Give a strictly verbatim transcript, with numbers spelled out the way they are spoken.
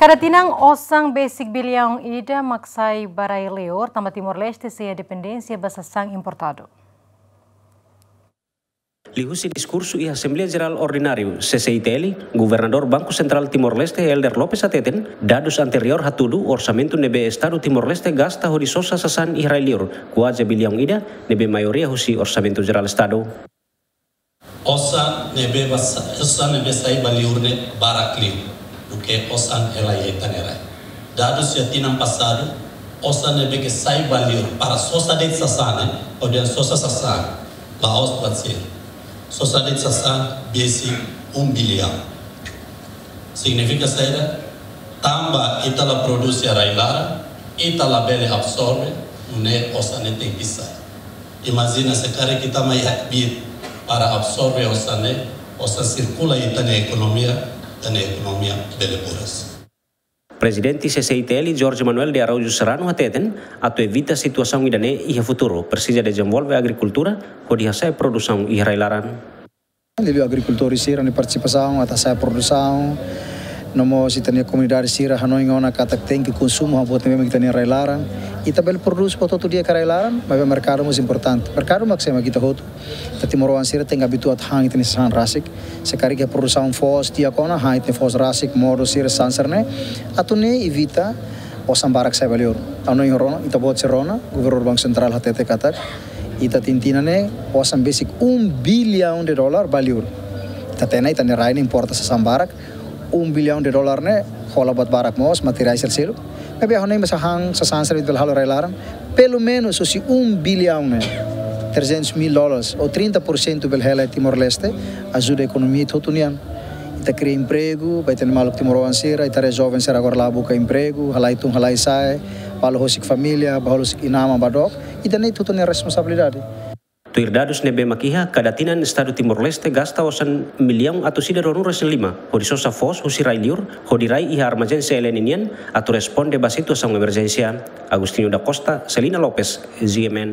Kada tinan osan besik biliaun ida mak sai ba rai-liur, tanba Timor-Leste sei iha dependénsia ba sasán importadu. Liuhusi diskursu iha Asembleia Jerál Ordináriu, C C I T L, Governadór Banku Sentrál Timor-Leste, Helder Lopes hateten, dadus anteriór hatudu orsamentu ne'ebé Estadu Timor-Leste gasta hodi sosa sasán iha rai-liur, kuaze biliaun ida, ne'ebé maioria husi Orsamentu Jerál Estadu. Osan ne'ebé ba sa-, osan ne'ebé sai ba liur ne'e barak liu duké osan hela iha ita-nia rai. Dadus iha tinan pasadu, osan ne'ebé ke sai ba liur para sosa de'it sasán ne'e, ou seja sosa sasán, la'ós buat sira. Sosa de'it sasán besik um biliaun. Signifika saida? Tanba ita la prodús iha rai-laran, ita labele absorve, nune'e osan ne'e tenke sai. Imajina se karik ita mai hakbiit para absorve osan ne'e, osan sirkula iha ita-nia ekonomia, ita-nia ekonomia bele buras. Prezidente C C I T L, Jorge Manuel de Araújo Serrano hateten, atu evita situasaun ida-ne'e iha futuru, presiza dezenvolve agrikultura, hodi hasa'e produsaun iha rai-laran. Liuliu agrikultór sira-nia partisipasaun, atu hasa'e produsaun, no mós ita-nia komunidade sira hanoin ona katak tenke konsumu hamutuk ne'ebé mak ita-nia rai-laran. Ita bele prodús buat hotu di'ak iha rai-laran, maibé merkadu mós importante. Merkadu mak sé, mak ita hotu. Ita timoroan sira tenke abitua atu han ita-nia sasán rasik. Se karik iha produsaun foos di'ak ona, han ita-nia foos rasik, modo sira, sasán sira-ne'e. Atu nune'e evita osan barak sai ba liur. Ha'u hanoin rona, ita-boot sira rona, Governadór Banku Sentrál hatete katak ita tinan ida-ne'e osan besik um biliaun de dólar ba liur. Ita hatene ita-nia rai ne'e importa sasán barak, um biliaun de dólar ne'e hola buat barak mós, materiál sira seluk. Maibé ha'u hanoin mós han sasán sira ita bele halo iha rai-laran, pelumenus husi um biliaun ne'e, trezentos mil dólares ou trinta por cento bele hela iha Timor-Leste, ajuda ekonomia ita hotu nian. Ita kria empregu ba ita-nia maluk timoroan sira, ita haree joven sira agora la'o buka empregu, halai tun halai sa'e, bá halo husik família, bá halo husik inan-aman ba dook, ida-ne'e ita hotu nia responsabilidade. Tuir dadus ne'ebé mak iha, kada tinan Estadu Timor-Leste gasta osan miliaun atus ida ruanulu-resin-lima hodi sosa foos husi rai-liur, hodi rai iha armazén C L N nian, atu responde ba situasaun emerjénsia. Agostinho da Costa, Celina Lopes, G M N.